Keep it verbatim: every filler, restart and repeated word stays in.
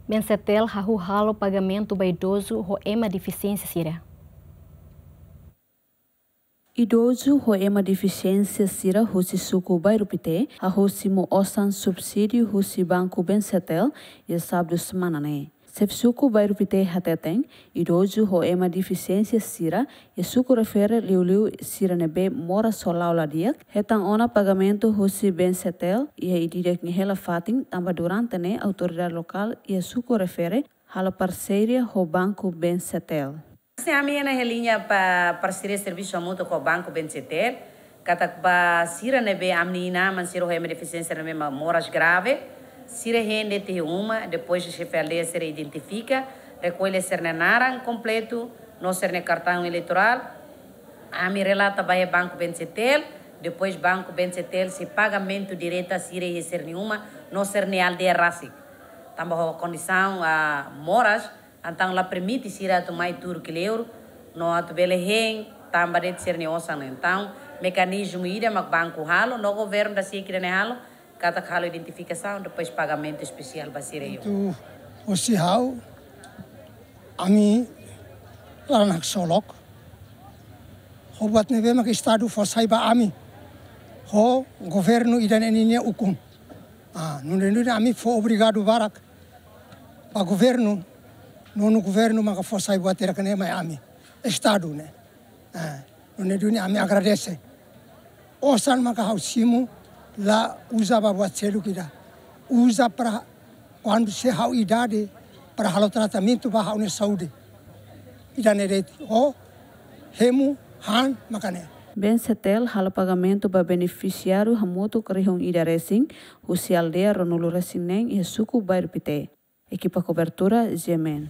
Bensetel hahú halo pagamentu ba idozu ho ema defisiénsia sira. Idozu ho ema defisiénsia sira husi suku Bairru Pité hahú simu osan subsídiu husi Banku Bensetel iha sábadu semana ne'e. Xefe suku Bairru Pité hateten, idozu ho ema defisiénsia sira iha suku refere, liuliu sira ne'ebé moras ho la'o la di'ak, hetan ona pagamentu husi Bensetel iha ida-idak nia hela fatin, tanba durante ne'e autoridade lokál iha suku refere halo parseria ho Banku Bensetel. Se ami iha ne'e liña ba parseria servisu hamutuk ho Banku Bensetel, katak ba sira ne'ebé ami-nia inan-aman sira ho ema defisiénsia ne'ebé mak moras grave, sira hein de'it iha uma, depois xefe aldeia sira identifika, rekolle sira-nia naran kompletu, no sira-nia kartaun eleitorál, ami relata ba iha Banku Bensetel, depois Banku Bensetel sei pagamentu direta sira iha sira-nia uma, no sira-nia aldeia rasik. Tanba ho kondisaun, ah, moras, entaun la permite sira atu mai tuur kleur, no atu bele hein, tanba de'it sira-nia osan. Entaun, mekanizmu ida mak banku halo, no governu dasiak ida-ne'e halo, katak halo identifikasaun, depois pagamentu espesiál ba sira iha uma. Entaun, hosi ha'u, ami laran haksolok. Ho buat ne'ebé mak Estadu fó sai ba ami. Ho governu ida-ne'e ninia ukun. Ah, nune'e duni ami fó obrigadu barak ba governu, nu'udar governu maka fó sai buat hirak ne'e mai ami, Estadu ne'e. Ah, nune'e duni ami agradese. Osan maka ha'u simu la uza ba buat seluk ida. Uza para kuandu sei ha'u idade para halo tratamentu ba ha'u-nia saúde. Ida-ne'e de'it, ho hemu han maka ne'e. Bensetel halo pagamentu ba benefisiáriu hamutuk rihun ida resin, husi aldeia ruanulu resin neen iha suku Bairru Pité. Ekipa kobertura, G M N.